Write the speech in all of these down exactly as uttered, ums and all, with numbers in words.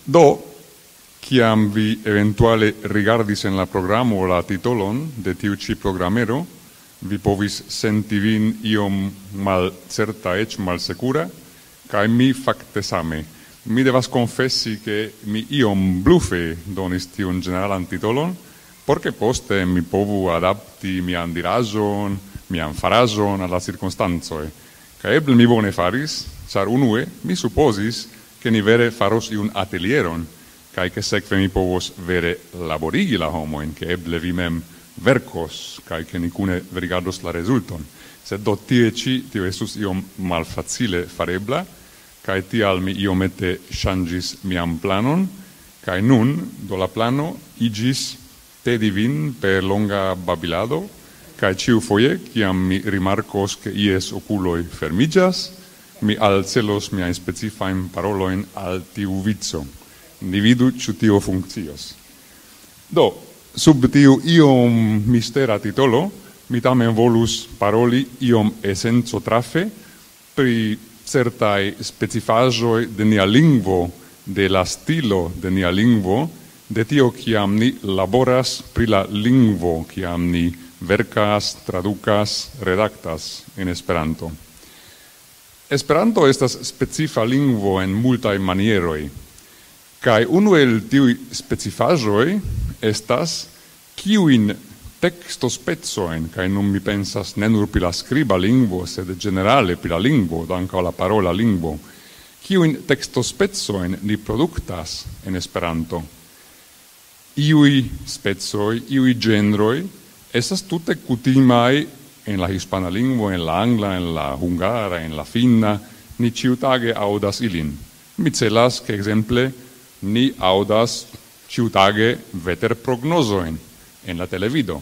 Do, kiam vi eventuale rigardis en la programo la titolon de tiu ĉi programero, vi povis senti vin iom malcerta, eĉ malsekura, kaj mi fakte same. Mi devas konfesi, ke mi iom blufe donis tiun ĝeneralan titolon, por ke poste mi povu adapti mian diraĵon, mian faraĵon al la cirkonstancoj. Kaj eble mi bone faris, ĉar unue mi supozis, ke ni vere faros iun atelieron, kaj ke sekve mi povos vere laborigi la homojn, ke eble vi mem verkos, kaj ke ni kune rigardos la rezulton. Sed do tie ĉi tio estus iom malfacile farebla, kaj tial mi iomete ŝanĝis mian planon, kaj nun, do la plano iĝis tedi vin per longa babilado, kaj ĉiufoje, kiam mi rimarkos, ke ies okuloj fermiĝas, mi alcelos miajn specifajn parolojn al tiu vico. Ni vidu, ĉu tio funkcios. Do, sub tiu iom mistera titolo, mi tamen volus paroli iom esenco trafe pri certaj specifaĵoj de nia lingvo, de la stilo de nia lingvo, de tio, kiam ni laboras pri la lingvo, kiam ni verkas, tradukas, redaktas en Esperanto. Esperanto estas specifa lingvo en multaj manieroj, kaj unu el tiuj specifaĵoj estas kiujn tekstospecojn, kaj nun mi pensas ne nur pri la skriba lingvo, sed ĝenerale pri la lingvo, do ankaŭ la parola lingvo, kiujn tekstospecojn ni produktas en Esperanto. Iuj specoj, iuj ĝenroj estas tute kutimaj en la hispana lingvo, en la angla, en la hungara, en la finna, ni ĉiutage aŭdas ilin. Mi celas, ke ekzemple ni aŭdas ĉiutage veterprognozojn en la televido.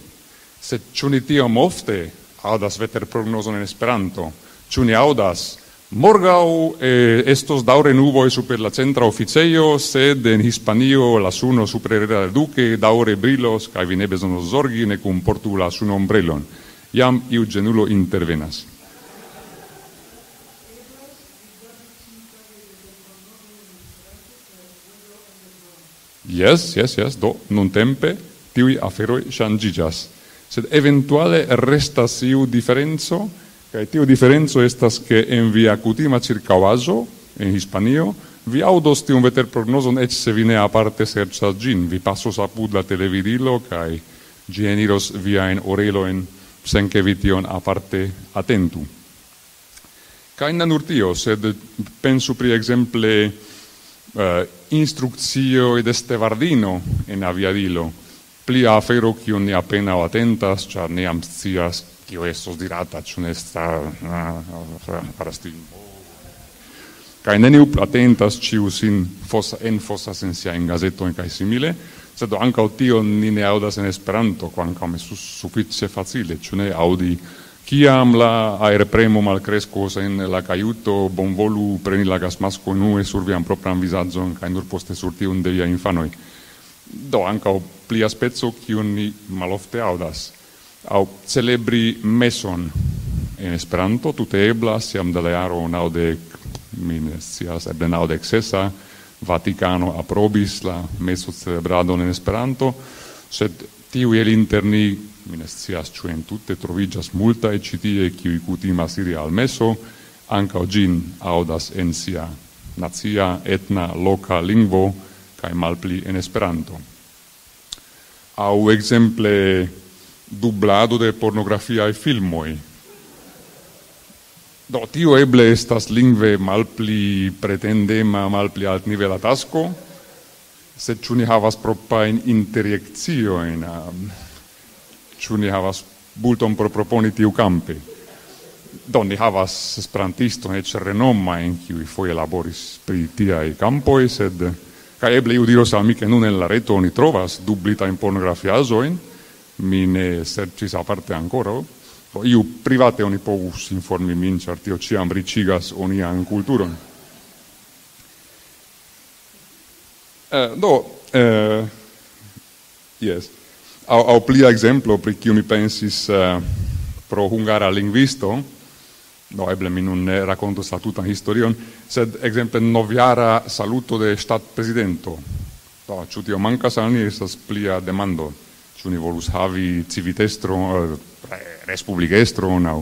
Sed ĉu ni tiom ofte aŭdas veterprognozon en Esperanto? Ĉu ni aŭdas: "Morgaŭ, eh, estos daŭre nuboj super la centra oficejo, sed en Hispanio la suno super Herrera del Duque daŭre brilos, kaj vi ne bezonos zorgi, ne kunportu la sunombrelon"? Jam iu ĝenulo intervenas. Jes, jes, jes, do nuntempe tiuj aferoj ŝanĝiĝas. Sed eventuale restas iu diferenco, kaj tiu diferenco estas, ke en via kutima ĉirkaŭaĵo, en Hispanio, vi aŭdos tiun veterprognozon, eĉ se vi ne aparte serĉas ĝin. Vi pasos apud la televidilo, kaj ĝi eniros viajn orelojn, sen ke vi tion aparte atentu. Kaj ne nur tio, sed pensu pri ekzemple, eh, instrukcioj de stevardino en aviadilo. Plia afero, kiun ni apenaŭ atentas, ĉar ni jam scias, kio estos dirata, ĉu ne sta-, ah, faras tiun. Kaj neniu plu atentas, ĉiu sin fosa-, enfosas en siajn gazetojn kaj simile, sed ankaŭ tion ni ne aŭdas en Esperanto, kvankam estus sufiĉe facile, ĉu ne, aŭdi: "Kiam la aerpremo malkreskos en la kajuto, bonvolu preni la gasmaskon unue sur vian propran vizaĝon, kaj nur poste sur tiun de viaj infanoj." Do, ankaŭ plia speco, kiun ni malofte aŭdas. Aŭ celebri meson en Esperanto, tute eblas, jam de la jaro naŭdek, mi ne scias, eble naŭdek sesa, Vatikano aprobis la mesocelebradon en Esperanto, sed tiuj el inter ni, mi ne scias, ĉu entute, troviĝas multaj ĉi tie, kiuj kutimas iri al meso, ankaŭ ĝin aŭdas en sia nacia, etna, loka lingvo, kaj malpli en Esperanto. Aŭ ekzemple dublado de pornografiaj filmoj. Do, tio eble estas lingve malpli pretendema, malpli altnivela tasko, sed ĉu ni havas proprajn interjekciojn, am, ĉu ni havas multon por proponi tiukampe? Do, ni havas esperantistojn, eĉ renomajn, kiuj foje laboris pri tiaj kampoj, sed, kaj eble iu diros al mi, ke nun en la reto oni trovas dublitajn pornografiaĵojn, mi ne serĉis aparte ankoraŭ. Do, iu private oni povus informi min, ĉar tio ĉiam riĉigas onian kulturon. Eh, do, eh, jes. Aŭ, aŭ plia ekzemplo, pri kiu mi pensis, eh, pro hungara lingvisto, Do, eble mi nun ne rakontos la tutan historion, sed ekzemple novjara saluto de ŝtatprezidento. Do, ĉu tio mankas al ni, estas plia demando. Ĉu ni volus havi civitestron, eh, re-, respublikestron aŭ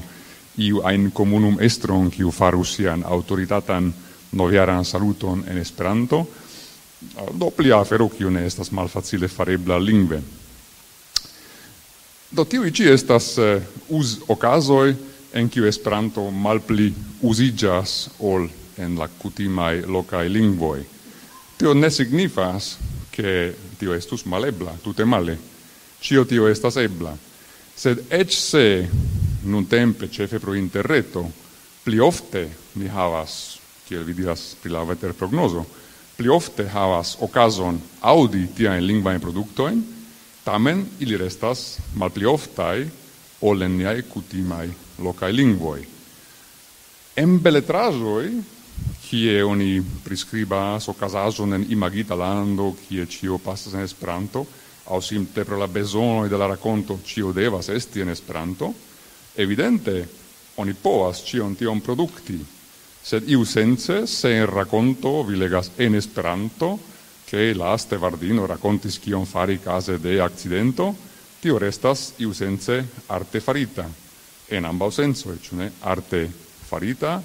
iu ajn komunumestron, kiu farus sian aŭtoritatan novjaran saluton en Esperanto? Do, plia afero, kiu ne estas malfacile farebla lingve. Do, tiuj ĉi estas, eh, uzokazoj, en kiu Esperanto malpli uziĝas ol en la kutimaj lokaj lingvoj. Tio ne signifas, ke tio estus malebla, tute male. Ĉio tio estas ebla. Sed eĉ se nuntempe, ĉefe pro interreto, pli ofte ni havas, kiel vi diras pri la veterprognozo, pli ofte havas okazon aŭdi tiajn lingvajn produktojn, tamen ili restas malpli oftaj ol en niaj kutimaj lokaj lingvoj. En beletraĵoj, kie oni priskribas okazaĵon en imagita lando, kie ĉio pasas en Esperanto, aŭ simple pro la bezonoj de la rakonto ĉio devas esti en Esperanto, evidente oni povas ĉion tion produkti, sed iusence, se en rakonto vi legas en Esperanto, ke la stevardino rakontis kion fari kaze de akcidento, tio restas iusence arte farita, en ambaŭ sensoj, ĉu ne? Arte farita,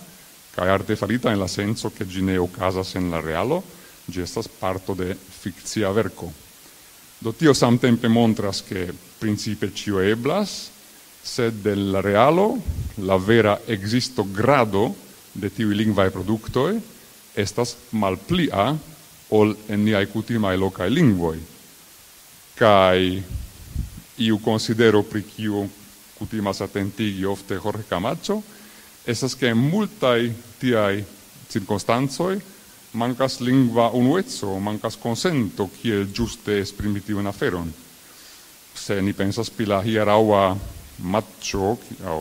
kaj arte farita en la senco, ke ĝi ne okazas en la realo, ĝi estas parto de fikcia verko. Do, tio samtempe montras, ke principe ĉio eblas, sed de la realo, la vera ekzisto grado de tiuj lingvaj produktoj estas malplia ol en niaj kutimaj lokaj lingvoj. Kaj iu konsidero, pri kiu kutimas atentigi ofte Jorge Camacho, estas, ke en multaj tiaj cirkonstancoj mankas lingva unueco, mankas konsento, kiel ĝuste esprimi tiun aferon. Se ni pensas pri la hieraŭa matĉo, aŭ,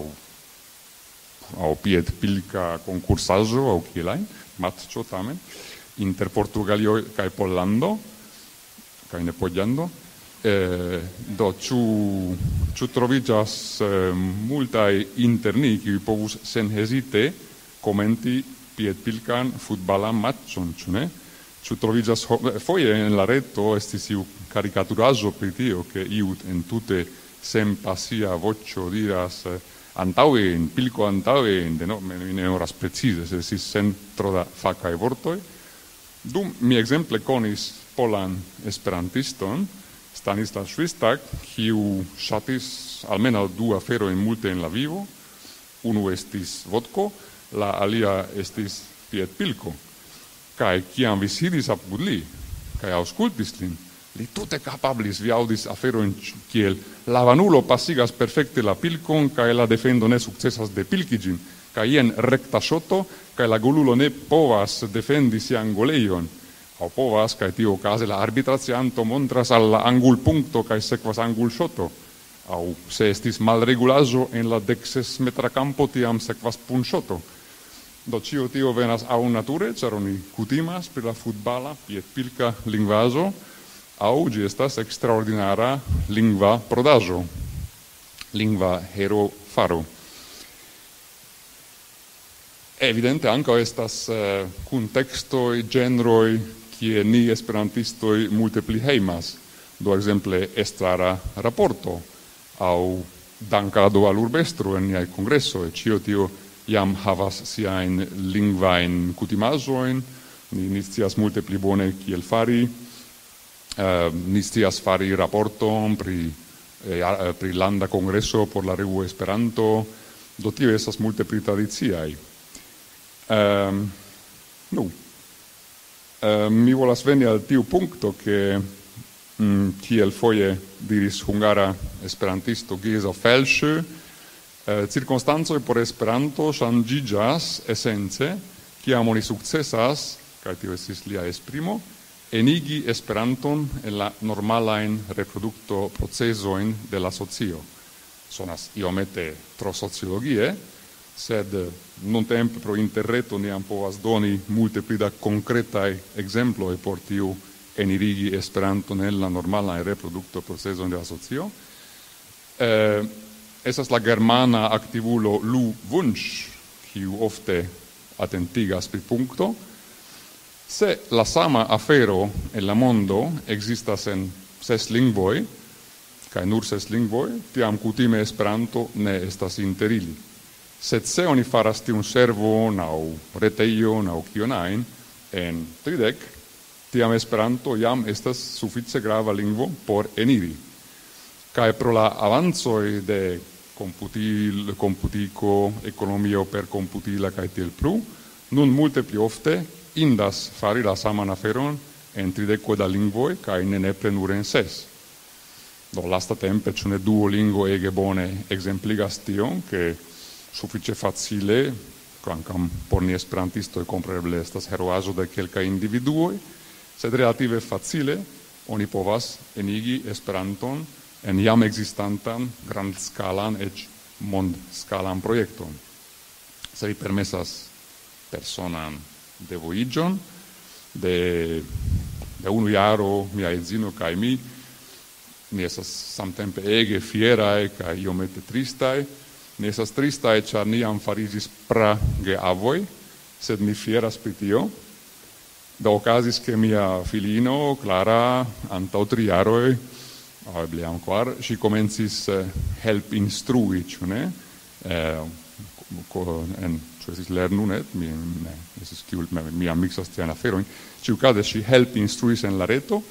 aŭ piedpilka konkursaĵo, aŭ kiel ajn, matĉo tamen, inter Portugalio kaj Pollando, kaj ne Pollando, eh, do, ĉu, ĉu troviĝas, eh, multaj inter ni, kiuj povus senhezite komenti piedpilkan futbalan matĉon, ĉu ne? Ĉu troviĝas ho-, foje en la reto estis iu karikaturaĵo pri tio, ke iu entute senpasia voĉo diras, eh, "Antaŭen, pilko antaŭen", de no, mi ne memoras precize, se estis sen tro da fakaj vortoj. Dum mi ekzemple konis polan esperantiston, Stanislav Švistak, kiu ŝatis almenaŭ du aferojn multe en la vivo. Unu estis vodko, la alia estis piedpilko. Kaj kiam vi sidis apud li, kaj aŭskultis lin, li tute kapablis, vi aŭdis aferojn ç-, kiel: "La vanulo pasigas perfekte la pilkon, kaj la defendo ne sukcesas depilki ĝin, kaj jen rekta ŝoto, kaj la golulo ne povas defendi sian golejon." Aŭ povas, kaj tiuokaze la arbitracianto montras al la angulpunkto, kaj sekvas angulŝoto. Aŭ se estis malregulaĵo en la dek ses metra kampo, tiam sekvas punŝoto. Do, ĉio tio venas aŭ nature, ĉar oni kutimas pri la futbala piedpilka lingvaĵo, aŭ ĝi estas ekstraordinara lingva prodaĵo, lingva herofaro. Evidente ankaŭ estas, eh, kuntekstoj, ĝenroj, kie ni esperantistoj multe pli hejmas. Do, ekzemple, estrara raporto aŭ dankado al urbestro en niaj kongresoj. Ĉio tio jam havas siajn lingvajn kutimaĵojn. Ni, ni scias multe pli bone kiel fari. Eh, ni scias fari raporton pri, eh, a-, eh, pri landa kongreso por la revuo Esperanto. Do, tio estas multe pli tradiciaj. Ehm, nu, eh, mi volas veni al tiu punkto, ke, mm, kiel foje diris hungara esperantisto Geza Felsö, eh, cirkonstancoj por Esperanto ŝanĝiĝas esence, kiam oni sukcesas, kaj tio estis lia esprimo, enigi Esperanton en la normalajn reproduktoprocezojn de la socio. Sonas iomete tro sociologie, sed nuntempe pro interreto ni jam povas doni multe pli da konkretaj ekzemploj por tiu enirigi Esperanton en la normalajn reproduktoprocezojn de la socio. Eh, estas la germana aktivulo Lou Wunsch, kiu ofte atentigas pri punkto. Se la sama afero en la mondo ekzistas en ses lingvoj, kaj nur ses lingvoj, tiam kutime Esperanto ne estas inter ili. Sed se oni faras tiun servon aŭ retejon aŭ kion ajn en tridek, tiam Esperanto jam estas sufiĉe grava lingvo por eniri. Kaj pro la avancoj de komputil-, komputiko, ekonomio per komputila kaj tiel plu, nun multe pli ofte indas fari la saman aferon en trideko da lingvoj kaj ne nepre nur en ses. Do, lastatempe, ĉu ne, Duolingo ege bone ekzempligas tion, ke sufiĉe facile, kvankam por ni esperantistoj kompreneble estas heroaĵo de kelkaj individuoj, sed relative facile oni povas enigi Esperanton en jam ekzistantan grandskalan, eĉ mondskalan projekton. Se vi permesas personan devoiĝon, de, de unu jaro mia edzino kaj mi, ni estas samtempe ege fieraj kaj iomete tristaj. Ni estas tristaj, ĉar ni jam fariĝis prageavoj, sed ni fieras pri tio. Do okazis, ke mia filino, Clara, antaŭ tri jaroj, aŭ eble jam kvar, ŝi komencis, eh, help instrui, ĉu ne? Eh, ko-, en, ĉu estis Lernu net? Mi, ne, estis kiu, mi, mi jam miksas tiajn aferojn. Ĉiukaze ŝi help instruis en la reto,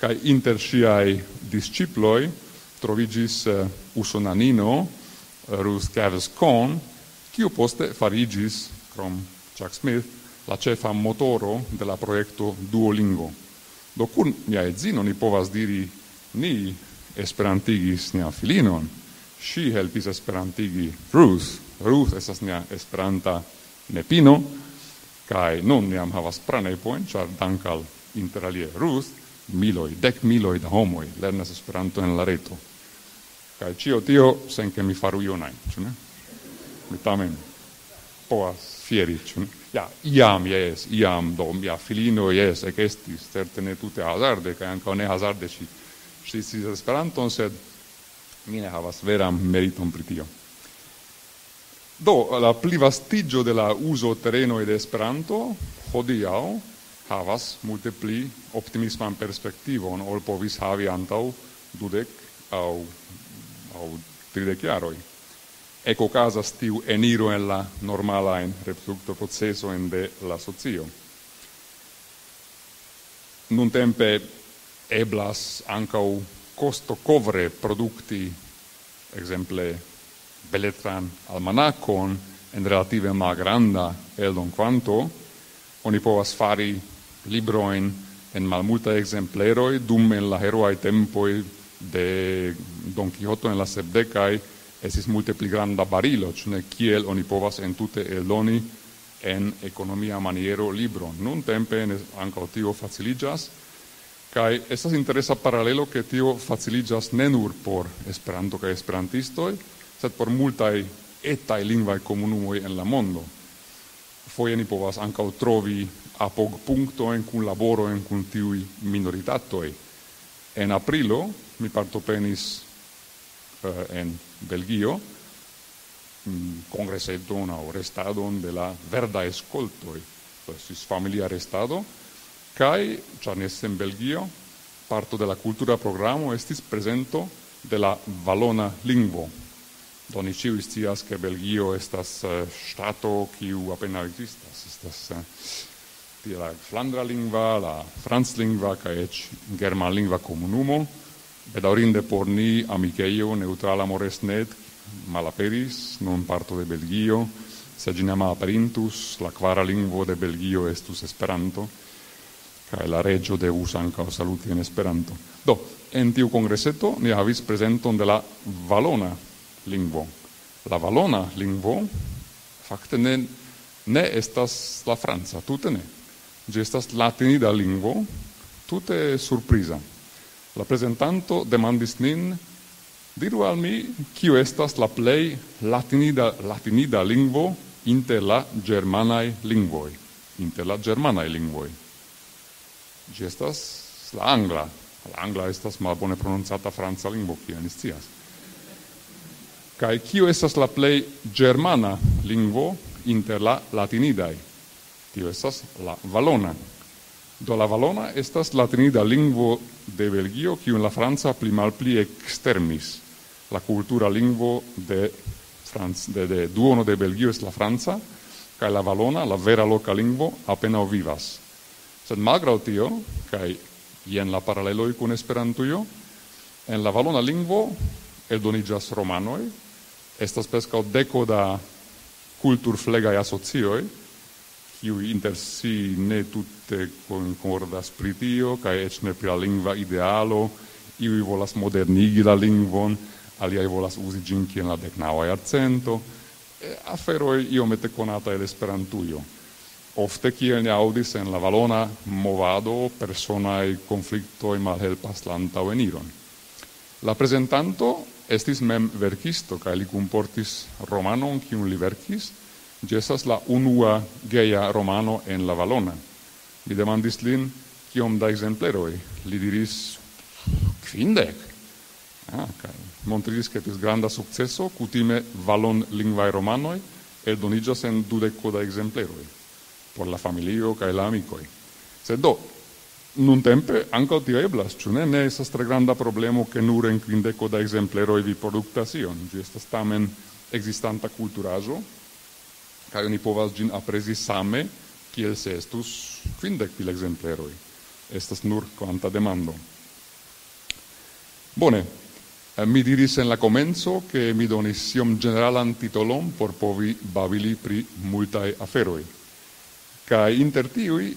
kaj inter ŝiaj disĉiploj troviĝis, eh, usonanino, Ruth Gavescon, kiu poste fariĝis, krom Chuck Smith, la ĉefa motoro de la projekto Duolingo. Do kun mia edzino ni povas diri, ni esperantigis nian filinon, ŝi helpis esperantigi Ruth, Ruth estas nia esperanta nepino, kaj nun ni jam havas pranepojn, ĉar dank al, inter alie, Ruth, miloj, dek miloj da homoj lernas Esperanto en la reto. Kaj ĉio tio sen ke mi faru ion ajn, ĉu ne? Mi tamen povas fieri, ĉu ne? Ja, iam, jes, iam, do mia filino, jes, ekestis, certe ne tute hazarde, kaj ankaŭ ne hazarde ŝi, ŝi sciis Esperanton, sed mi ne havas veran meriton pri tio. Do, la plivastiĝo de la uzo terenoj de Esperanto hodiaŭ havas multe pli optimisman perspektivon, ol povis havi antaŭ dudek aŭ, aŭ tridek jaroj. Ekokazas tiu eniro en la normalajn reproduktoprocesojn de la socio. Nuntempe eblas ankaŭ kostokovre produkti, ekzemple, beletran almanakon en relative malgranda eldon-kvanto. Oni povas fari librojn en malmultaj ekzempleroj, dum en la heroaj tempoj de Don Quixoto en la sepdekaj estis multe pli granda barilo, ĉu ne, kiel oni povas entute eldoni en ekonomia maniero libron. Nuntempe ne, ankaŭ tio faciliĝas, kaj estas interesa paralelo, ke tio faciliĝas ne nur por Esperanto kaj esperantistoj, sed por multaj etaj lingvaj komunumoj en la mondo. Foje ni povas ankaŭ trovi apogpunktojn, kunlaborojn kun tiuj minoritatoj. En aprilo mi partoprenis, eh, en Belgio, mm, kongreseton aŭ restadon de la Verdaj Skoltoj. Do estis familia restado, kaj, ĉar ni estis en Belgio, parto de la kultura programo estis prezento de la valona lingvo. Do ni ĉiuj scias, ke Belgio estas, eh, ŝtato, kiu apenaŭ ekzistas. Estas, eh, tie la flandra lingva, la franclingva kaj eĉ germanlingva komunumo. Bedaŭrinde por ni, Amikejo Neŭtrala Moresnet malaperis, nun parto de Belgio. Se ĝi ne malaperintus, la kvara lingvo de Belgio estus Esperanto, kaj la reĝo devus ankaŭ saluti en Esperanto. Do, en tiu kongreseto ni havis prezenton de la valona lingvo. La valona lingvo fakte ne, ne estas la franca, tute ne. Ĝi estas latinida lingvo, tute surpriza. La prezentanto demandis nin: "Diru al mi, kio estas la plej latinida, latinida lingvo inter la ĝermanaj lingvoj?" Inter la ĝermanaj lingvoj. Ĝi estas la angla. La angla estas malbone prononcata franca lingvo, kiel ni scias. Kaj kio estas la plej ĝermana lingvo inter la latinidaj. Tio estas la valona. Do la valona estas latinida lingvo de Belgio, kiun la franca pli malpli ekstermis. La kultura lingvo de, Franc-, de, de duono de Belgio estas la franca, kaj la valona, la vera loka lingvo, apenaŭ vivas. Sed malgraŭ tio, kaj jen la paraleloj kun Esperantujo, en la valona lingvo eldoniĝas romanoj, estas preskaŭ deko da kulturflegaj asocioj, kiuj inter si ne tute konkordas pri tio, kaj eĉ ne pri la lingva idealo, iuj volas modernigi la lingvon, aliaj volas uzi ĝin kiel la deknaŭa jarcento, eh, aferoj iomete konata el Esperantujo. Ofte, kiel ni aŭdis en la valona movado, personaj konfliktoj malhelpas la antaŭeniron. La prezentanto estis mem verkisto, kaj li kunportis romanon, kiun li verkis. Ĝi estas la unua geja romano en la valona. Mi demandis lin, kiom da ekzempleroj. Li diris: "Kvindek." Ah, kaj montriĝis, ke estis granda sukceso. Kutime valonlingvaj romanoj eldoniĝas en dudeko da ekzempleroj por la familio kaj la amikoj. Sed do, nuntempe ankaŭ tio eblas, ĉu ne? Ne estas tre granda problemo, ke nur en kvindeko da ekzempleroj vi produktas ion. Ĝi estas tamen ekzistanta kulturaĵo, kaj oni povas ĝin aprezi same, kiel se estus kvindek mil ekzempleroj. Estas nur kvanta demando. Bone, eh, mi diris en la komenco, ke mi donis iom ĝeneralan titolon por povi babili pri multaj aferoj. Kaj inter tiuj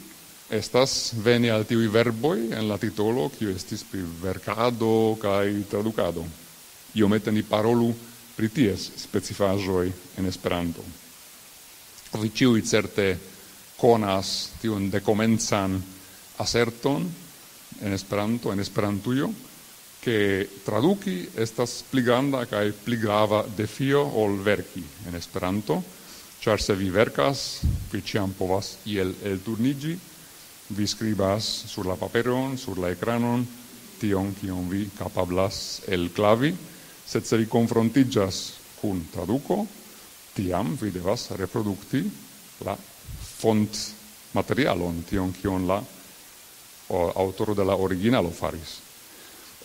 estas veni al tiuj verboj en la titolo, kio estis pri verkado kaj tradukado. Iomete ni parolu pri ties specifaĵoj en Esperanto. Vi ĉiuj certe konas tiun dekomencan aserton en Esperanto, en Esperantujo, ke traduki estas pli granda kaj pli grava defio ol verki en Esperanto, ĉar se vi verkas, vi ĉiam povas iel elturniĝi, vi skribas sur la paperon, sur la ekranon, tion, kion vi kapablas elklavi, sed se vi konfrontiĝas kun traduko, tiam vi devas reprodukti la fontmaterialon, tion, kion la, o, aŭtoro de la originalo faris.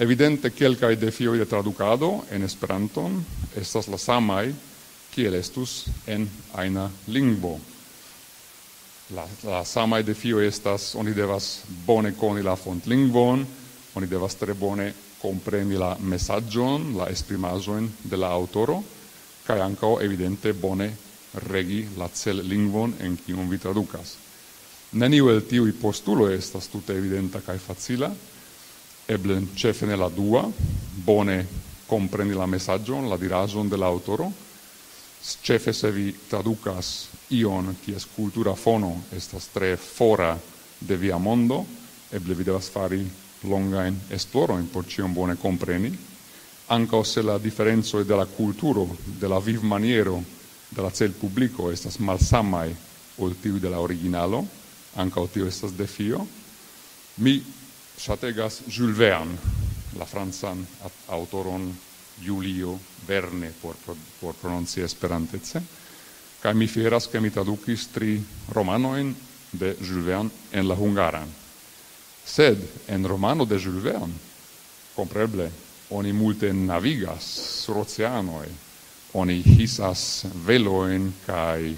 Evidente, kelkaj defioj de tradukado en Esperanton estas la samaj, kiel estus en ajna lingvo. La, la samaj defioj estas, oni devas bone koni la fontlingvon, oni devas tre bone kompreni la mesaĝon, la esprimaĵojn de la aŭtoro, kaj ankaŭ evidente bone regi la cellingvon, en kiun vi tradukas. Neniu el tiuj postuloj estas tute evidenta kaj facila, eble ĉefe ne la dua, bone kompreni la mesaĝon, la diraĵon de la aŭtoro, s-, ĉefe se vi tradukas ion, kies kultura fono estas tre fora de via mondo, eble vi devas fari longajn esplorojn por ĉion bone kompreni, ankaŭ se la diferencoj de la kulturo, de la vivmaniero, de la celpubliko estas malsamaj ol tiuj de la originalo, ankaŭ tio estas defio. Mi ŝategas Jules Verne, la francan at-, aŭtoron Julio Verne, por pro-, por prononci esperantece, kaj mi fieras, ke mi tradukis tri romanojn de Jules Verne en la hungaran. Sed en romano de Jules Verne, kompreble, oni multe navigas sur oceanoj, oni hisas velojn kaj,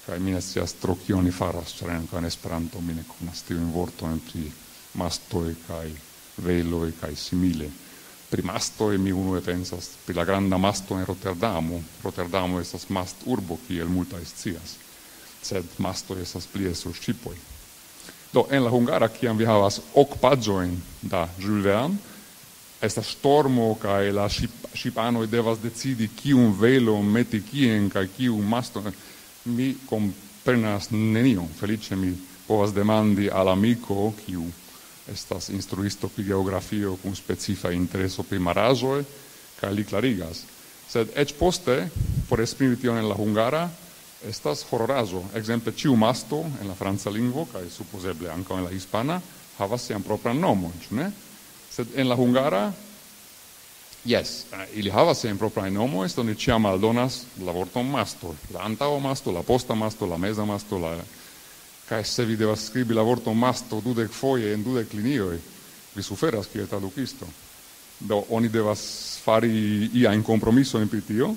kaj mi ne scias tro kio oni faras, ĉar ankaŭ en Esperanto mi ne konas tiujn vortojn pri mastoj kaj veloj kaj simile. Pri mastoj mi unue pensas pri la granda masto en Rotterdamo. Rotterdamo estas masturbo, kiel multaj scias, sed mastoj estas plie sur ŝipoj. Do, en la hungara, kiam vi havas ok paĝojn da Jules Verne, estas ŝtormo, kaj la ŝip-, ŝipanoj devas decidi, kiun velon meti kien kaj kiun maston. Mi komprenas nenion. Feliĉe mi povas demandi al amiko, kiu estas instruisto pri geografio kun specifa intereso pri maraĵoj, kaj li klarigas. Sed eĉ poste, por esprimi tion en la hungara, estas hororaĵo. Ekzemple, ĉiu masto en la franca lingvo, kaj supozeble ankaŭ en la hispana, havas sian propran nomon, ĉu ne? Sed en la hungara Jes, eh, ili havas siajn proprajn nomojn, sed oni ĉiam aldonas la vorton masto, la antaŭa masto, la posta masto, la meza masto, la... Kaj se vi devas skribi la vorton masto dudek foje en dudek linioj, vi suferas kiel tradukisto. Do, oni devas fari iajn kompromisojn pri tio,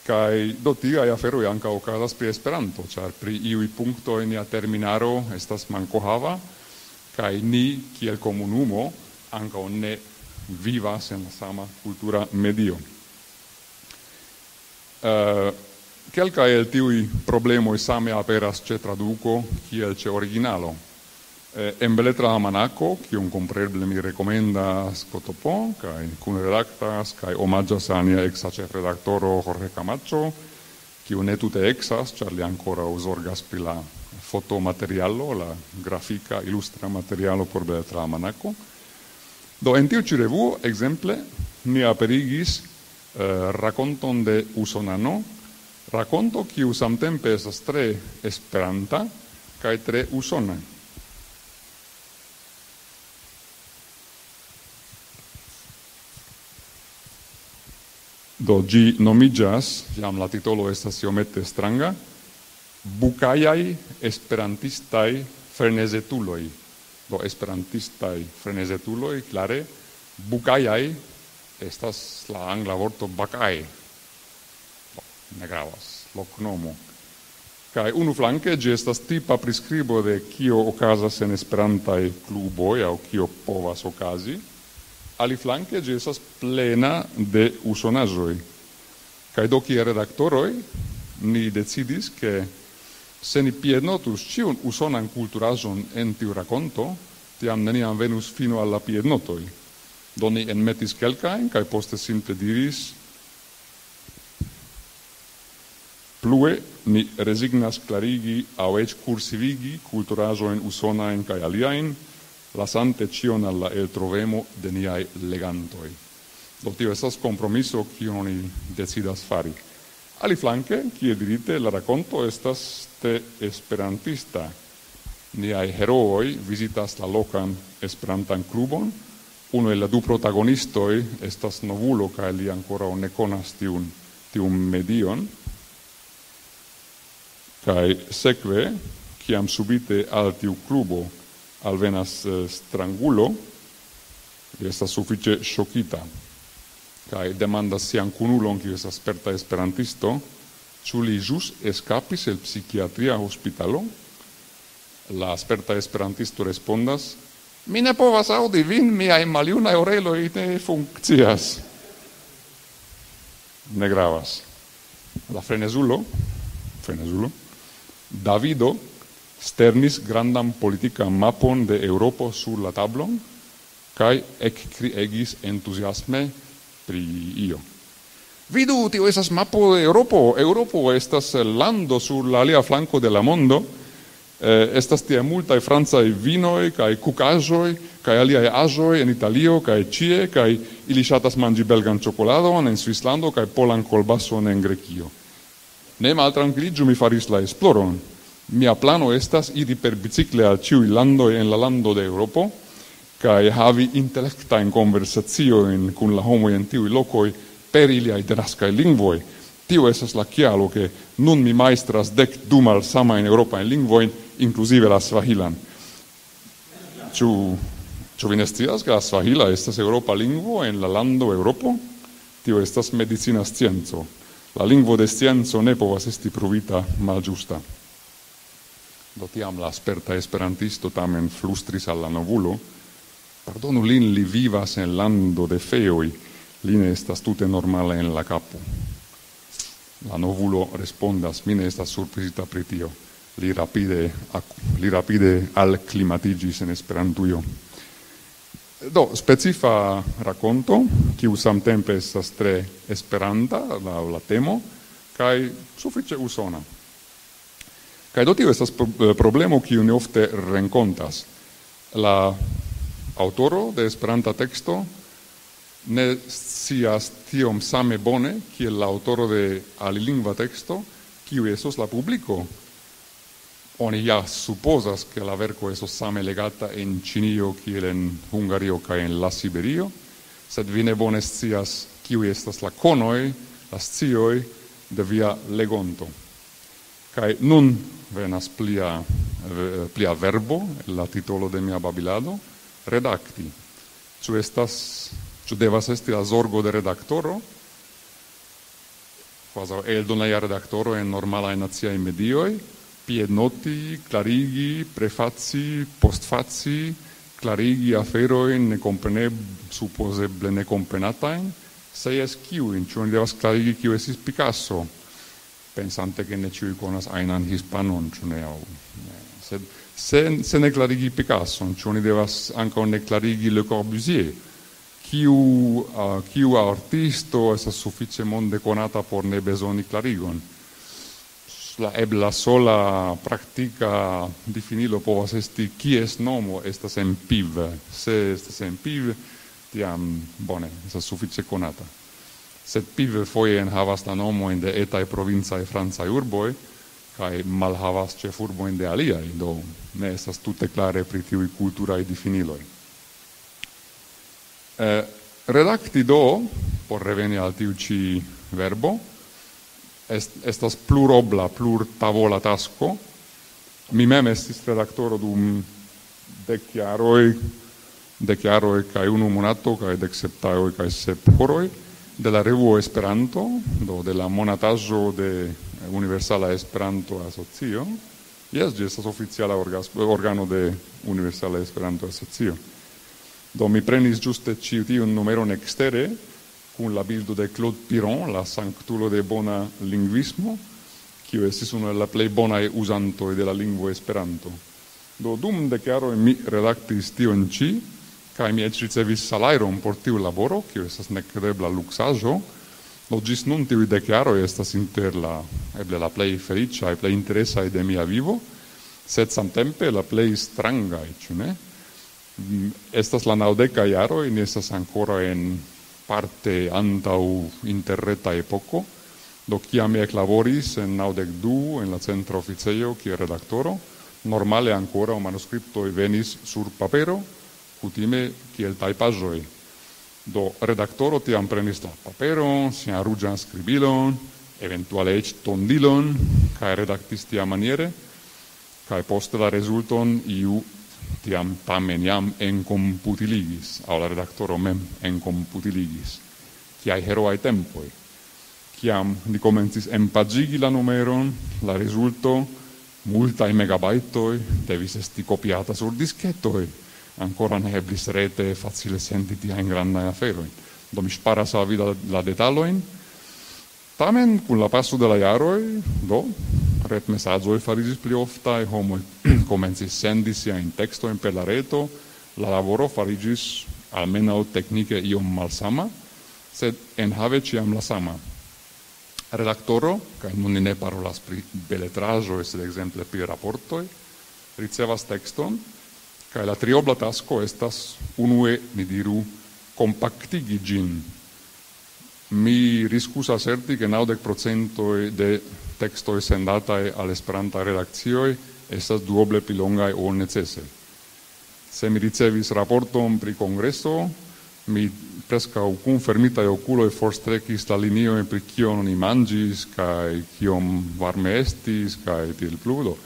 kaj do tiaj aferoj ankaŭ okazas pri Esperanto, ĉar pri iuj punktoj nia terminaro estas mankohava, kaj ni kiel komunumo ankaŭ ne vivas en la sama kultura medio. Eh, kelkaj el tiuj problemoj same aperas ĉe traduko kiel ĉe originalo. Eh, en Beletra Almanako, kiun kompreble mi rekomendas Kotopo, kaj kunredaktas, kaj omaĝas al nia eksa ĉefredaktoro Jorge Camacho, kiu ne tute eksas, ĉar li ankoraŭ zorgas pri la fotomaterialo, la grafika, ilustra materialo por Beletra Almanako. Do, en tiu ĉi revuo, ekzemple, ni aperigis, eh, rakonton de usonano, rakonto, kiu samtempe estas tre esperanta kaj tre usona. Do, ĝi nomiĝas, jam la titolo estas iomete stranga, Bukajaj esperantistaj frenezetuloj. Do, esperantistaj frenezetuloj, klare, Bukajaj estas la angla vorto Bakaj. Do, ne gravas, loknomo. Kaj unu flanke ĝi estas tipa priskribo de kio okazas en esperantaj kluboj aŭ kio povas okazi. Aliflanke ĝi estas plena de usonaĵoj. Kaj do kiel redaktoroj ni decidis, ke se ni piednotus ĉiun usonan kulturaĵon en tiu rakonto, tiam neniam venus fino al la piednotoj. Do ni enmetis kelkajn kaj poste simple diris: "Plue ni rezignas klarigi aŭ eĉ kursivigi kulturaĵojn usonajn kaj aliajn, lasante ĉion al la eltrovemo de niaj legantoj." Do tio estas kompromiso, kion oni decidas fari. Aliflanke, kiel dirite, la rakonto estas tre esperantista. Niaj herooj vizitas la lokan esperantan klubon. Unu el la du protagonistoj estas novulo, kaj li ankoraŭ ne konas tiun, tiun medion. Kaj sekve, kiam subite al tiu klubo alvenas, eh, strangulo, li estas sufiĉe ŝokita. Kaj demandas sian kunulon, kiu estas sperta esperantisto, ĉu li ĵus eskapis el psikiatria hospitalo. La sperta esperantisto respondas: "Mi ne povas aŭdi vin, miaj maljunaj oreloj ne funkcias." Ne gravas. La frenezulo, frenezulo, Davido sternis grandan politikan mapon de Eŭropo sur la tablon kaj ekkriegis entuziasme pri io. "Vidu, tio estas mapo de Eŭropo. Eŭropo estas lando sur la alia flanko de la mondo. Eh, estas tie multaj francaj vinoj kaj kukaĵoj kaj aliaj aĵoj en Italio kaj ĉie, kaj ili ŝatas manĝi belgan ĉokoladon en Svislando kaj polan kolbason en Grekio." Ne maltrankviliĝu, mi faris la esploron. Mia plano estas iri per bicikle al ĉiuj landoj en la lando de Eŭropo, kaj havi intelektajn konversaciojn kun la homoj en tiuj lokoj per iliaj denaskaj lingvoj. Tio estas la kialo, ke nun mi majstras dek du malsamajn eŭropajn lingvojn, inkluzive la svahilan. Ĉu, ĉu vi ne scias, ke la svahila estas eŭropa lingvo en la lando Eŭropo? Tio estas medicina scienco. La lingvo de scienco ne povas esti pruvita malĝusta. Do tiam la sperta esperantisto tamen flustris al la novulo: "Pardonu lin, li vivas en lando de feoj, li ne estas tute normala en la kapo." La novulo respondas: "Mi ne estas surprizita pri tio." Li rapide ak-, li rapide alklimatiĝis en Esperantujo. Do, specifa rakonto, kiu samtempe estas tre esperanta laŭ la temo, kaj sufiĉe usona. Kaj do tio estas pro-, eh, problemo, kiu ni ofte renkontas. La aŭtoro de Esperanta teksto ne scias tiom same bone kiel la aŭtoro de alilingva teksto, kiu estos la publiko. Oni ja supozas, ke la verko estos same legata en Ĉinio kiel en Hungario kaj en la Siberio, Sed vi ne bone scias, kiuj estas la konoj, la scioj de via legonto. Kaj nun venas plia, ve-, plia verbo, la titolo de mia babilado, redakti. Ĉu estas, ĉu devas esti la zorgo de redaktoro? Kvazaŭ eldoneja redaktoro en normalaj naciaj medioj, piednoti, klarigi, prefaci, postfaci, klarigi aferojn nekompreneb-, supozeble nekomprenatajn, se jes, kiujn, ĉu oni devas klarigi, kiu estis Picasso, pensante, ke ne ĉiuj konas ajnan hispanon, ĉu ne, aŭ ne. Sed se, se ne klarigi Picasson, ĉu oni devas ankaŭ ne klarigi Le Corbusier? Kiu, uh, kiu artisto estas sufiĉe monde konata por ne bezoni klarigon? La ebla sola praktika difinilo povas esti, kies nomo estas en piv. Se estas en piv, tiam, bone, estas sufiĉe konata. Sed piv foje enhavas la nomojn de etaj provincaj francaj urboj, kaj malhavas ĉefurbojn de aliaj, do ne estas tute klare pri tiuj kulturaj difiniloj. Eh, redakti do, por reveni al tiu ĉi verbo, est-, estas plurobla, plurtavola tasko. Mi mem estis redaktoro dum dek jaroj, dek jaroj kaj unu monato kaj dek sep tagoj kaj sep horoj de la revuo Esperanto, do de la monataĵo de Universala Esperanto Asocio. Jes, ĝi estas oficiala orgas-, organo de Universala Esperanto Asocio. Do mi prenis ĝuste ĉi tiun numeron ekstere kun la bildo de Claude Piron, la sanktulo de bona lingvismo, kiu estis unu el la plej bonaj uzantoj de la lingvo Esperanto. Do dum dek jaroj mi redaktis tion ĉi, kaj mi eĉ ricevis salajron por tiu laboro, kiu estas nekredebla luksaĵo. Do ĝis nun tiuj dek jaroj estas inter la, eble la plej feliĉaj, plej interesaj de mia vivo, sed samtempe la plej strangaj, ĉu ne? Mm, estas la naŭdekaj jaroj, ni estas ankoraŭ en parte antaŭ interreta epoko, do kiam mi eklaboris en naŭdek du en la centra oficejo kiel redaktoro, normale ankoraŭ manuskriptoj venis sur papero, kutime kiel tajpaĵoj. Do redaktoro tiam prenis la paperon, sian ruĝan skribilon, eventuale eĉ tondilon, kaj redaktis tiamaniere, kaj poste la rezulton iu tiam tamen jam enkomputiligis, aŭ la redaktoro mem enkomputiligis. Kiaj heroaj tempoj! Kiam ni komencis enpaĝigi la numeron, la rezulto, multaj megabajtoj, devis esti kopiata sur disketoj. Ankoraŭ ne eblis rete facile sendi tiajn grandajn aferojn. Do mi ŝparas al vi la, la detalojn. Tamen, kun la paso de la jaroj, do, retmesaĝoj fariĝis pli oftaj, homoj komencis sendi siajn tekstojn per la reto, la laboro fariĝis almenaŭ teknike iom malsama, sed enhave ĉiam la sama. Redaktoro, kaj nun ni ne parolas pri beletraĵoj, sed ekzemple pri raportoj, ricevas tekston, kaj la triobla tasko estas unue, ni diru, kompaktigi ĝin. Mi riskus aserti, ke naŭdek procentoj de tekstoj sendataj al Esperantaj redakcioj estas duoble pli longaj ol necese. Se mi ricevis raporton pri kongreso, mi preskaŭ kun fermitaj okuloj forstrekis la liniojn pri kion oni manĝis kaj kiom varme estis kaj tiel plu. Do,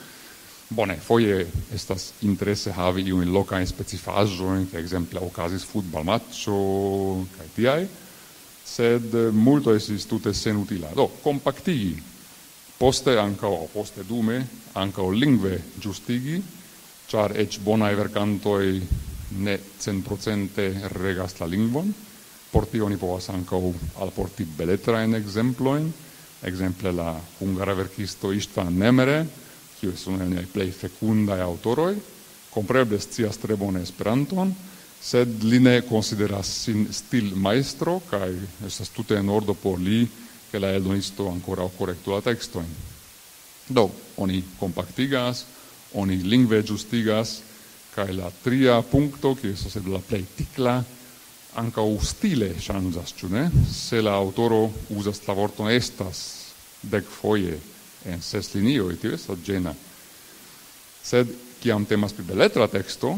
bone, foje estas interese havi iujn lokajn specifaĵojn, ke ekzemple okazis futbalmaĉo kaj tiaj, sed, eh, multo estis tute senutila. Do, kompaktigi, poste ankaŭ, aŭ poste dume, ankaŭ lingve ĝustigi, ĉar eĉ bonaj verkantoj ne centprocente regas la lingvon. Por tio oni povas ankaŭ alporti beletrajn ekzemplojn, ekzemple la hungara verkisto Istvan Nemere, kiu estas unu el niaj plej fekundaj aŭtoroj, kompreneble scias tre bone Esperanton, sed li ne konsideras sin stilmajstro, kaj estas tute en ordo por li, ke la eldonisto ankoraŭ korektu la tekstojn. Do, oni kompaktigas, oni lingve ĝustigas, kaj la tria punkto, kiu estas eble la plej tikla, ankaŭ stile ŝanĝas, ĉu ne? Se la aŭtoro uzas la vorton estas dek foje en ses linioj, tio estas ĝena. Sed Kiam temas pri beletra teksto,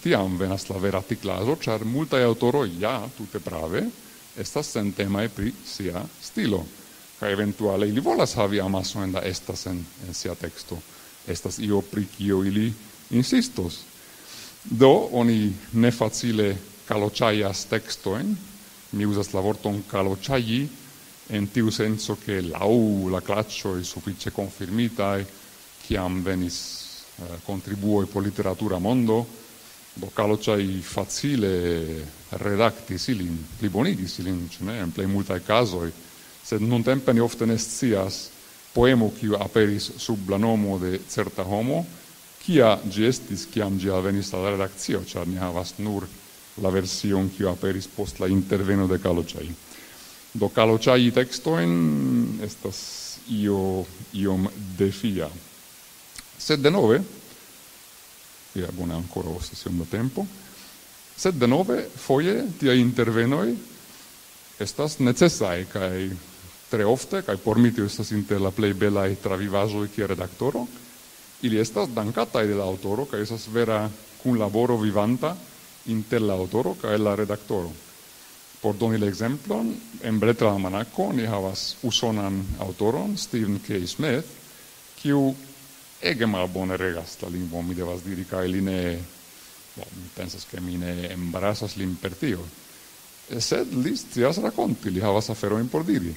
tiam venas la vera tiklaĵo, ĉar multaj aŭtoroj ja tute prave estas sentemaj pri sia stilo, kaj eventuale ili volas havi amasojn da estas en, en sia teksto. Estas io, pri kio ili insistos. Do, oni ne facile kaloĉajas tekstojn. Mi uzas la vorton kaloĉaji en tiu senco, ke laŭ la klaĉoj sufiĉe konfirmitaj, kiam venis, eh, kontribuoj por literatura mondo, do kaloĉaj facile redaktis ilin, plibonigis ilin, ĉu ne, en plej multaj kazoj. Sed nuntempe ni ofte ne scias poemo, kiu aperis sub la nomo de certa homo, kia ĝi estis, kiam ĝi alvenis al la redakcio, ĉar ni havas nur la version, kiu aperis post la interveno de kaloĉaj. Do kaloĉaji tekstojn estas io iom defia. Sed denove, ja, bone, ankoraŭ estas iom da tempo, sed denove, foje tiaj intervenoj estas necesaj, kaj tre ofte, kaj por mi tio estas inter la plej belaj travivaĵoj kiel redaktoro, ili estas dankataj de la aŭtoro, kaj estas vera kunlaboro vivanta inter la aŭtoro kaj la redaktoro. Por doni la ekzemplon, en Beletra Almanako ni havas usonan aŭtoron, Stephen K. Smith, kiu ege malbone regas la lingvon, mi devas diri, kaj li ne, bo, mi pensas, ke mi ne embarasas lin per tio. Sed li scias rakonti, li havas aferojn por diri.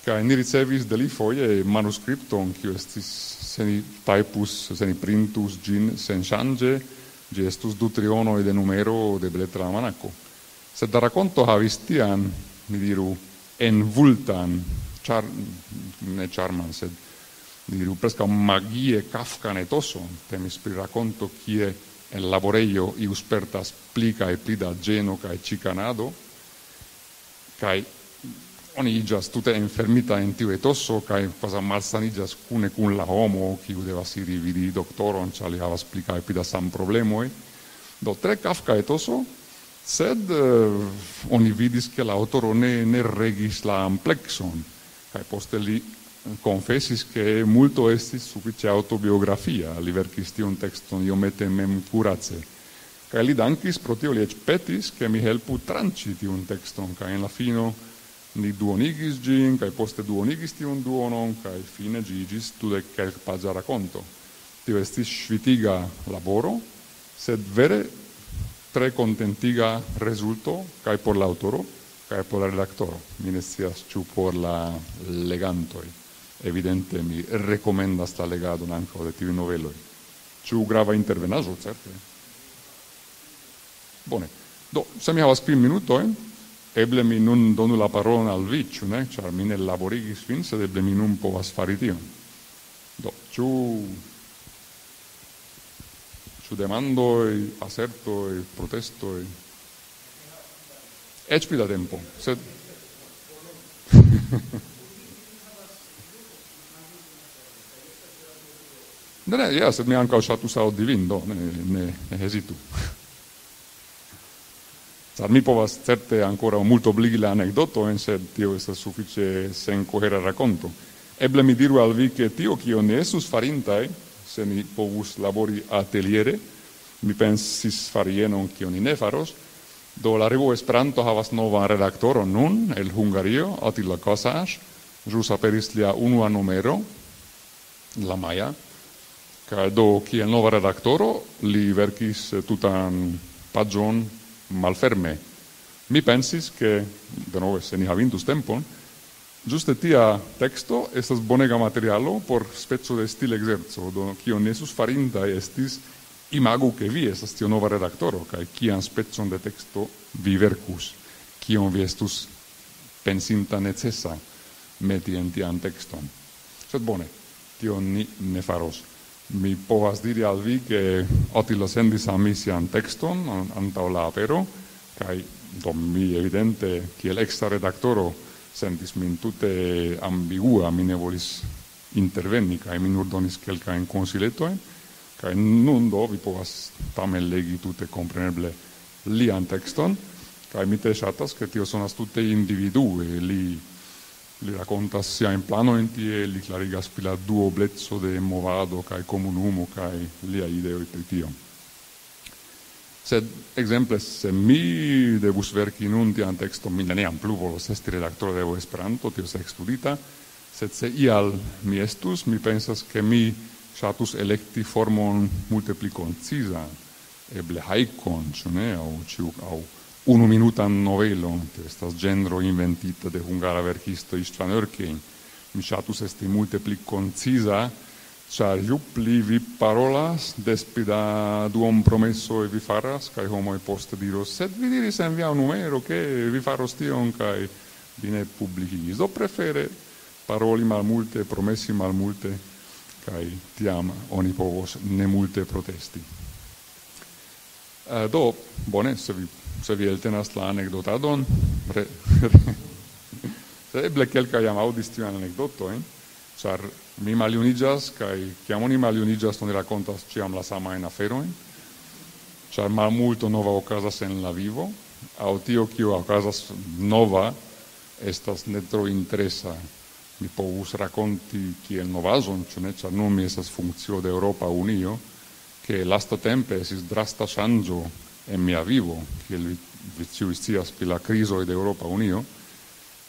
Kaj ni ricevis de li foje manuskripton, kiu estis, se ni tajpus, se ni printus ĝin senŝanĝe, ĝi estus du trionoj de numero de Beletra Almanako. Sed la rakonto havis tian, mi diru, envultan, ĉar-, ne ĉarman, sed, mi diru, preskaŭ magie kafkan etoson. Temis pri rakonto, kie en laborejo iu spertas pli kaj pli da ĝeno kaj ĉikanado, kaj oni iĝas tute enfermita en tiu etoso, kaj kvazaŭ malsaniĝas kune kun la homo, kiu devas iri vidi doktoron, ĉar li havas pli kaj pli da sanproblemoj. Do, tre kafka etoso, sed, eh, oni vidis, ke la aŭtoro ne, ne regis la amplekson, kaj poste li konfesis, ke multo estis sufiĉe aŭtobiografia, li verkis tiun tekston iomete memkurace. Kaj li dankis pro tio, li eĉ petis, ke mi helpu tranĉi tiun tekston, kaj en la fino ni duonigis ĝin, kaj poste duonigis tiun duonon, kaj fine ĝi iĝis dudek kelkpaĝa rakonto. Tio estis ŝvitiga laboro, sed vere tre kontentiga rezulto, kaj por la aŭtoro, kaj por la redaktoro. Mi ne scias, ĉu por la legantoj. Evidente, mi rekomendas la legadon ankaŭ de tiuj noveloj. Ĉu grava intervenaĵo, certe? Bone. Do, se mi havas kvin minutojn, eble mi nun donu la parolon al vi, ĉu ne? Ĉar mi ne laborigis vin, sed eble mi nun povas fari tion. Do, ĉu, ĉu demandoj, asertoj, protestoj? Eĉ pli da tempo, sed Ne, ne, ja, sed mi ankaŭ ŝatus aŭdi vin, do ne, ne, ne hezitu. Ĉar mi povas certe ankoraŭ multobligi la anekdotojn, sed tio estas sufiĉe senkohera rakonto. Eble mi diru al vi, ke tio, kio ni estus farintaj, se ni povus labori ateliere, mi pensis fari jenon, kion ni ne faros. Do, la revuo Esperanto havas novan redaktoron nun, el Hungario, Attila Kosas. Ĵus aperis lia unua numero, la maja. Kaj do, kiel nova redaktoro, li verkis tutan paĝon malferme. Mi pensis, ke, denove, se ni havintus tempon, ĝuste tia teksto estas bonega materialo por speco de stilegzerco. Do, kion ni estus farintaj estis, imagu, ke vi estas tiu nova redaktoro, kaj kian specon de teksto vi verkus, kion vi estus pensinta necesa meti en tian tekston. Sed bone, tion ni ne faros. Mi povas diri al vi, ke Attila sendis al mi sian tekston an-, antaŭ la apero, kaj do mi evidente, kiel eksa redaktoro, sentis min tute ambigua, mi ne volis interveni, kaj mi nur donis kelkajn konsiletojn, kaj nun do vi povas tamen legi tute kompreneble lian tekston, kaj mi tre ŝatas, ke tio sonas tute individue, li Li rakontas siajn planojn tie, li klarigas pri la duobleco de movado kaj komunumo kaj liaj ideoj pri tio. Sed, ekzemple, se mi devus verki nun tian tekston, mi neniam plu volos esti redaktoro de Evo Esperanto, tio estas ekskludita, sed se ial mi estus, mi pensas, ke mi ŝatus elekti formon multe pli konciza, eble hajkon, ĉu ne, aŭ ĉiu, aŭ unuminutan novelon, tio estas ĝenro inventita de hungara verkisto Istvan Örkény. Mi ŝatus esti multe pli konciza, ĉar ju pli vi parolas, des pli da duonpromesoj vi faras, kaj homoj poste diros: "Sed vi diris en via numero, ke vi faros tion, kaj vi ne publikigis." Do prefere paroli malmulte, promesi malmulte, kaj tiam oni povos ne multe protesti. Eh, do, bone, se vi, se vi eltenas la anekdotadon, re, re, eble kelkaj jam aŭdis tiujn anekdotojn, ĉar mi maljuniĝas, kaj kiam oni maljuniĝas, oni rakontas ĉiam la samajn aferojn, ĉar malmulto nova okazas en la vivo, aŭ tio, kio okazas nova, estas ne tro interesa. Mi povus rakonti kiel novaĵon, ĉu ne? Ĉar nun mi estas funkcio de Eŭropa Unio, ke lastatempe estis drasta ŝanĝo en mia vivo, kiel vi, vi ĉiuj scias pri la krizoj de Eŭropa Unio.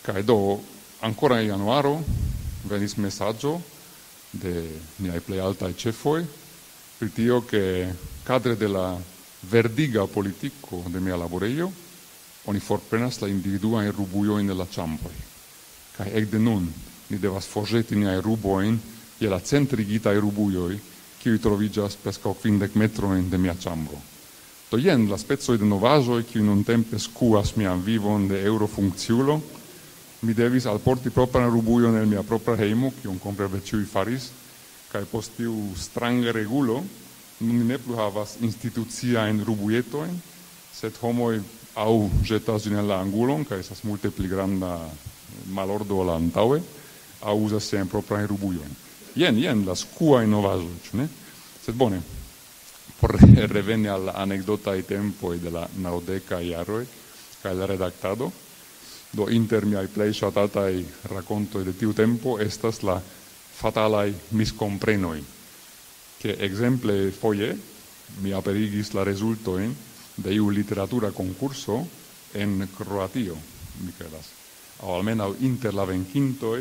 Kaj do, ankoraŭ en januaro venis mesaĝo de niaj plej altaj ĉefoj pri tio, ke kadre de la verdiga politiko de mia laborejo oni forprenas la individuajn rubujojn el la ĉambroj. Kaj ekde nun ni devas forĵeti niajn rubojn je la centrigitaj rubujoj, kiuj troviĝas preskaŭ kvindek metrojn de mia ĉambro. Do jen la specoj de novaĵoj, kiuj nuntempe skuas mian vivon de eŭrofunkciulo. Mi devis alporti propran rubujon el mia propra hejmo, kion kompreneble ĉiuj faris, kaj post tiu stranga regulo nun ni ne plu havas instituciajn rubujetojn, sed homoj aŭ ĵetas ĝin en la angulon, kaj estas multe pli granda malordo ol antaŭe, aŭ uzas siajn proprajn rubujojn. Jen, jen la skuaj novaĵoj, ĉu ne? Sed bone, por reveni al la anekdotaj tempoj de la naŭdekaj jaroj kaj la redaktado, do inter miaj plej ŝatataj rakontoj de tiu tempo estas la fatalaj miskomprenoj, ke ekzemple foje mi aperigis la rezultojn de iu literatura konkurso en Kroatio, mi kredas, aŭ almenaŭ inter la venkintoj,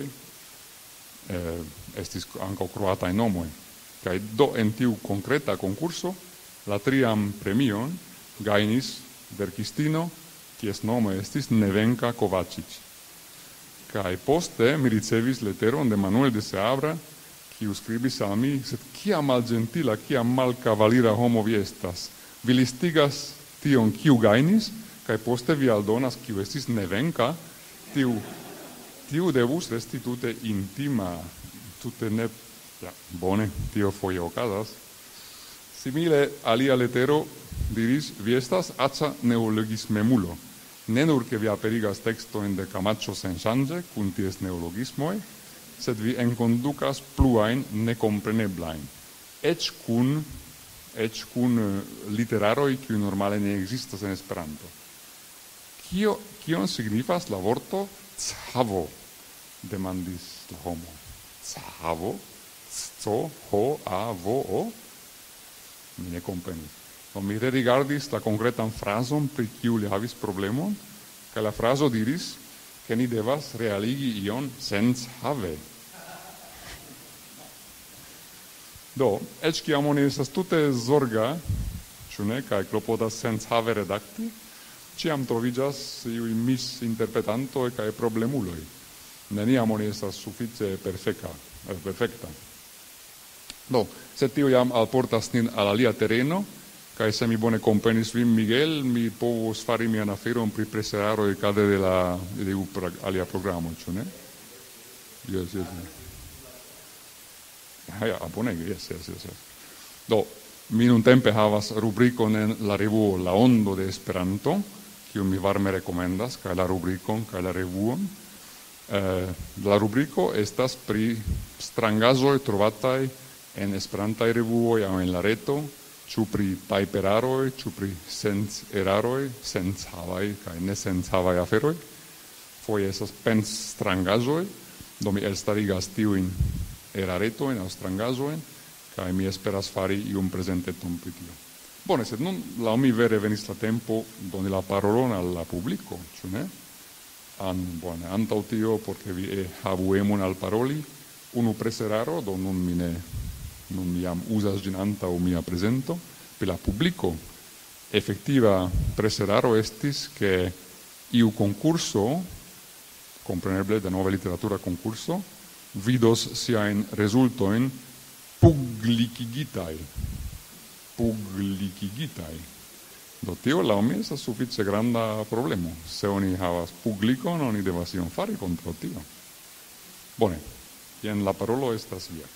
eh, estis ankaŭ kroataj nomoj. Kaj do en tiu konkreta konkurso la trian premion gajnis verkistino, kies nomo estis Nevenka Kovačič. Kaj poste mi ricevis leteron de Manuel de Seabra, kiu skribis al mi: "Sed kia malĝentila, kia malkavalira homo vi estas! Vi listigas tion, kiu gajnis, kaj poste vi aldonas, kiu estis Nevenka. Tiu, tiu devus resti tute intima, tute ne." Ja, bone, tio foje okazas. Simile, alia letero diris: "Vi estas aĉa neologismemulo. Ne nur ke vi aperigas tekstojn de Camacho senŝanĝe kun ties neologismoj, sed vi enkondukas pluajn nekompreneblajn, eĉ kun, eĉ kun, eh, literaroj, kiuj normale ne ekzistas en Esperanto." "Kio, kion signifas la vorto cavo?" demandis la homo. "Cavo? C O H A V O?" Mi ne komprenis. Do mi rerigardis la konkretan frazon, pri kiu li havis problemon, kaj la frazo diris, ke ni devas realigi ion senhave. Do, eĉ kiam oni estas tute zorga, ĉu ne, kaj klopodas senhave redakti, ĉiam troviĝas iuj misinterpretantoj kaj problemuloj. Neniam oni estas sufiĉe perfeka, eh, perfekta. Do, se tio jam alportas nin al alia tereno, kaj se mi bone komprenis vin, Miguel, mi povos fari mian aferon pri preseraroj kadre de la, de iu pra-, alia programo, ĉu ne? Jes, jes, jes. Ah, ja, ah, bonege, jes, jes, jes, jes. Do, mi nuntempe havas rubrikon en la revuo La Ondo de Esperanto, kiun mi varme rekomendas, kaj la rubrikon, kaj la revuon. Eh, la rubriko estas pri strangaĵoj trovataj en esperantaj revuoj aŭ en la reto, ĉu pri tajperaroj, ĉu pri senseraroj, senhavaj kaj nesenhavaj aferoj. Foje estas pensstrangaĵoj, do mi elstarigas tiujn eraretojn aŭ strangaĵojn, kaj mi esperas fari iun prezenteton pri tio. Bone, sed nun laŭ mi vere venis la tempo doni la parolon al la publiko, ĉu ne? An, bone, antaŭ tio, por ke vi, eh, havu emon al paroli, unu preseraro, do nun mi ne, nun mi jam uzas ĝin antaŭ mia prezento, pri la publiko. Efektiva preseraro estis, ke iu konkurso, kompreneble denove literatura konkurso, vidos siajn rezultojn publikigitaj. Publikigitaj. Do tio laŭ mi estas sufiĉe granda problemo. Se oni havas publikon, oni devas ion fari kontraŭ tio. Bone, jen la parolo estas via.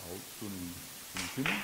Paul, ĉu nun, nun finu?